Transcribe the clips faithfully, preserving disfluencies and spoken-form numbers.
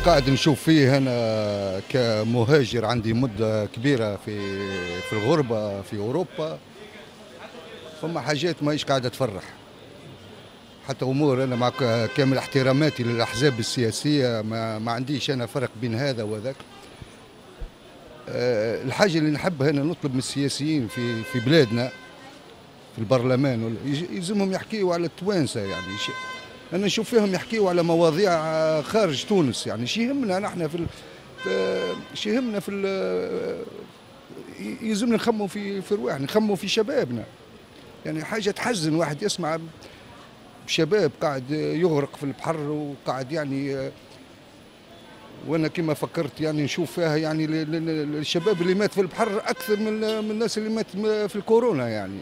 قاعد نشوف فيه أنا كمهاجر عندي مدة كبيرة في في الغربة في أوروبا، فما حاجات ماهيش قاعدة تفرح. حتى أمور أنا مع كامل احتراماتي للأحزاب السياسية ما, ما عنديش أنا فرق بين هذا وذاك. أه الحاجة اللي نحبها أنا نطلب من السياسيين في في بلادنا في البرلمان يلزمهم يحكيوا على التوانسة، يعني أنا نشوف فيهم يحكيوا على مواضيع خارج تونس، يعني شي يهمنا نحن في شي يهمنا في يلزمنا نخموا في في رواحنا، نخموا في شبابنا. يعني حاجة تحزن واحد يسمع شباب قاعد يغرق في البحر وقاعد يعني، وانا كما فكرت يعني نشوف فيها يعني الشباب اللي مات في البحر اكثر من من الناس اللي مات في الكورونا يعني.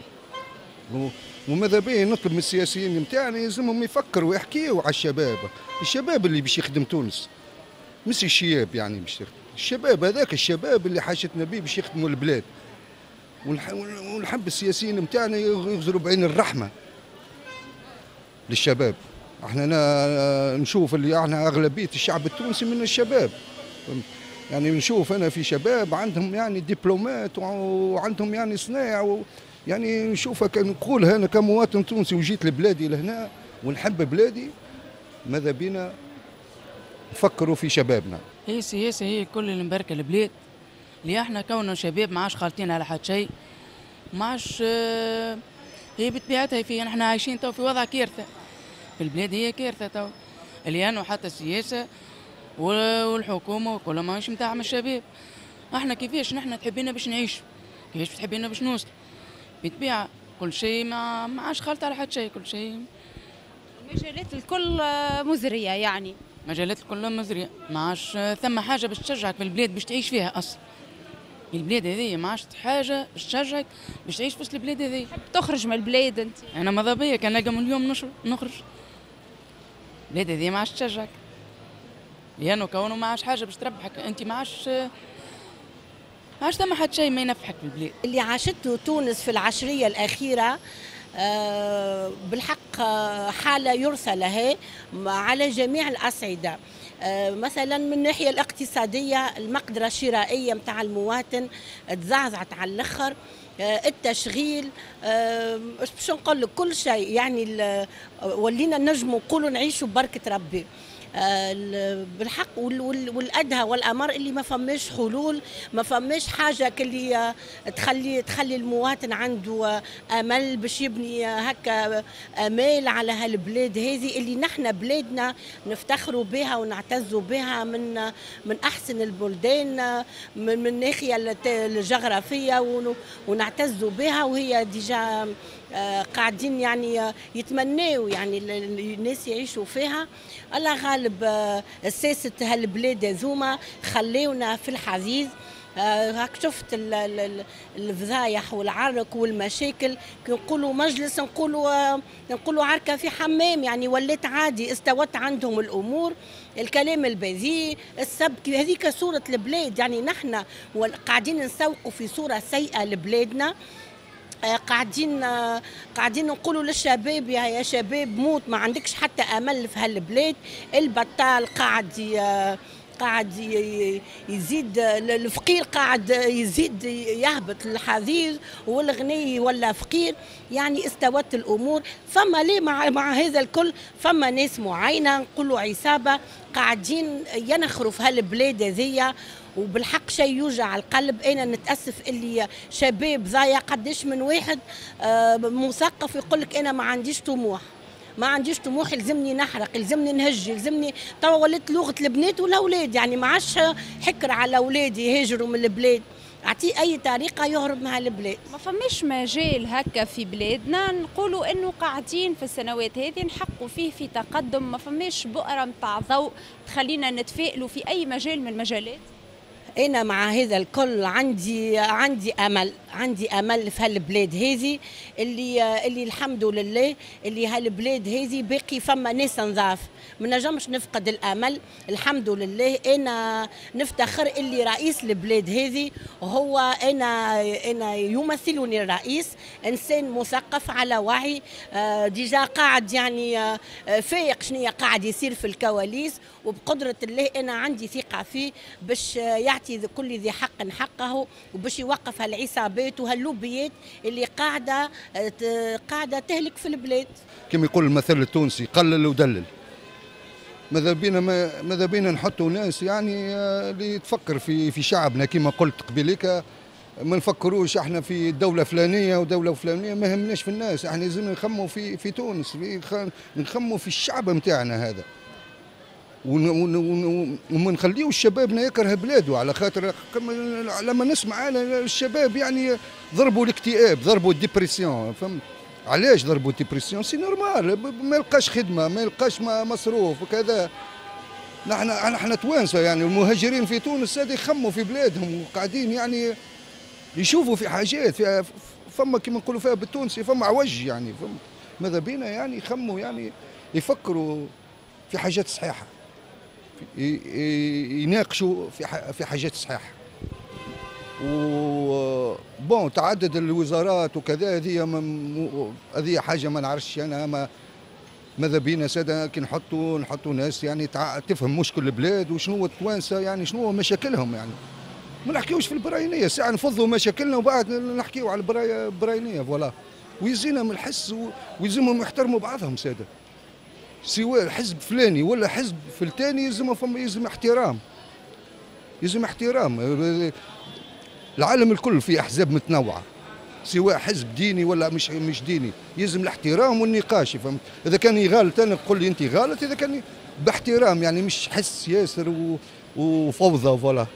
وماذا به نطلب من السياسيين نتاعنا يلزمهم يفكروا ويحكيوا على الشباب، الشباب اللي باش يخدم تونس، مش الشياب يعني باش يخدم، الشباب هذاك الشباب اللي حاجتنا به باش يخدموا البلاد. ونحب السياسيين نتاعنا يغزروا بعين الرحمة للشباب. احنا نشوف اللي احنا اغلبية الشعب التونسي من الشباب، يعني نشوف انا في شباب عندهم يعني دبلومات وعندهم يعني صنايع، يعني نشوفها نقولها انا كمواطن تونسي وجيت لبلادي لهنا ونحب بلادي، ماذا بينا نفكروا في شبابنا. هي السياسة هي كل اللي مباركة البلاد، اللي احنا كوننا شباب ما عادش خالطين على حد شيء، ما عادش هي بطبيعتها في نحن عايشين تو في وضع كارثة في البلاد، هي كارثة تو اللي انه حتى السياسة والحكومة وكل ماهيش نتاع الشباب. احنا كيفاش نحن تحبينا باش نعيش، كيفاش تحبينا باش نوصل، بطبيعة كل شيء ما ما عادش خالط على حد شيء، كل شيء المجالات الكل مزرية، يعني مجالات الكل مزرية، ما عادش ثم حاجة باش تشجعك في البلاد باش تعيش فيها اصلا. البلاد هذه ما عادش حاجة باش تشجعك باش تعيش في وسط البلاد هذه. تحب تخرج من البلاد انت؟ انا ماذا بيا كان نلقى من اليوم نخرج. البلاد هذه ما عادش تشجعك، لانه كونه ما عادش حاجة باش تربحك انت، ما عادش ما عادش ثم حد شيء ما ينفحك في البلاد. اللي عاشته تونس في العشريه الاخيرة بالحق حاله يرثى لها على جميع الاصعدة. مثلا من الناحية الاقتصادية المقدرة الشرائية نتاع المواطن تزعزعت على الاخر، التشغيل، باش نقول لك كل شيء، يعني ولينا نجموا نقولوا نعيشوا ببركة ربي بالحق. والادهى والامر اللي ما فماش حلول، ما فماش حاجة اللي تخلي تخلي المواطن عنده امل باش يبني هكا امال على هالبلاد هذه اللي نحن بلادنا نفتخروا بها ونعتزوا بها، من من احسن البلدان من من الناحية الجغرافية ونعتزوا بها، وهي déjà قاعدين يعني يتمناو يعني الناس يعيشوا فيها. الله غالب ساسة هالبلاد هذوما خليونا في الحضيض. هاك شفت الفضايح والعرك والمشاكل، كي نقولوا مجلس نقولوا نقولوا عركة في حمام، يعني ولات عادي، استوت عندهم الامور، الكلام البذيء، السب، هذيك صوره البلاد. يعني نحن قاعدين نسوقوا في صوره سيئه لبلادنا، قاعدين قاعدين نقولوا للشباب يا شباب موت، ما عندكش حتى امل في هالبلاد. البطال قاعد قاعد يزيد، الفقير قاعد يزيد يهبط للحضيض، والغني ولا فقير، يعني استوت الامور. فما ليه مع, مع هذا الكل فما ناس معينة نقولوا عصابة قاعدين ينخروا في هالبلاد هذيا، وبالحق شيء يوجع القلب. انا نتاسف اللي شباب ضايع، قداش من واحد مثقف يقول لك انا ما عنديش طموح، ما عنديش طموح، يلزمني نحرق، يلزمني نهج، يلزمني. توا ولات لغة البنات والاولاد، يعني ما عادش حكر على اولادي يهاجروا من البلاد، اعطيه اي طريقه يهرب مع البلاد. ما فماش مجال هكا في بلادنا نقولوا انه قاعدين في السنوات هذه نحققوا فيه في تقدم، ما فماش بؤرة نتاع ضوء تخلينا نتفائلوا في اي مجال من المجالات. انا مع هذا الكل عندي عندي امل، عندي امل في هالبلاد هذه اللي اللي الحمد لله اللي هالبلاد هذه باقي فما ناس نظاف، ما نجمش نفقد الامل. الحمد لله انا نفتخر اللي رئيس البلاد هذه هو انا انا يمثلني الرئيس، انسان مثقف على وعي، déjà قاعد يعني فايق شنو قاعد يصير في الكواليس، وبقدره الله انا عندي ثقة فيه باش يعطي كل ذي حق حقه، وباش يوقف هالعصابات وهاللوبيات اللي قاعدة قاعدة تهلك في البلاد. كما يقول المثل التونسي قلل ودلل. ماذا بينا ماذا بينا نحطوا ناس يعني اللي تفكر في في شعبنا كما قلت قبيلك، ما نفكروش احنا في دولة فلانيه ودولة فلانيه، ما همناش في الناس، احنا لازم نخموا في في تونس، في نخموا في الشعب نتاعنا هذا، وما نخليوش شبابنا يكره بلاده. على خاطر لما نسمع انا الشباب يعني ضربوا الاكتئاب، ضربوا ال dépression، فهمت علاش ضربوا ال dépression؟ c'est normal، ما يلقاش خدمة، ما يلقاش مصروف وكذا. نحن نحن توانسة يعني المهاجرين في تونس هذه يخموا في بلادهم وقاعدين يعني يشوفوا في حاجات في فما كما نقولوا فيها بالتونسي فما عوج يعني، فما ماذا بينا يعني يخموا يعني يفكروا في حاجات صحيحه، يناقشوا في في حاجات صحيحه. و bon تعدد الوزارات وكذا هذه هذه حاجة ما نعرفش انا، ما ماذا بينا ساده كي نحطوا نحطوا ناس يعني تفهم مشكل البلاد وشنو التوانسة يعني شنو مشاكلهم، يعني ما نحكيوش في البراينيه، ساعة نفضوا مشاكلنا وبعد نحكيو على البراينيه voilà. ويزينا من الحس ويلزمهم يحترموا بعضهم ساده، سواء حزب فلاني ولا حزب فلتاني يلزم فما يلزم احترام، يلزم احترام. العالم الكل فيه احزاب متنوعة، سواء حزب ديني ولا مش مش ديني، يلزم الاحترام والنقاش، فهمت؟ اذا كان غلط انا نقول لي انت غلط، اذا كان باحترام يعني مش حس ياسر وفوضى voilà.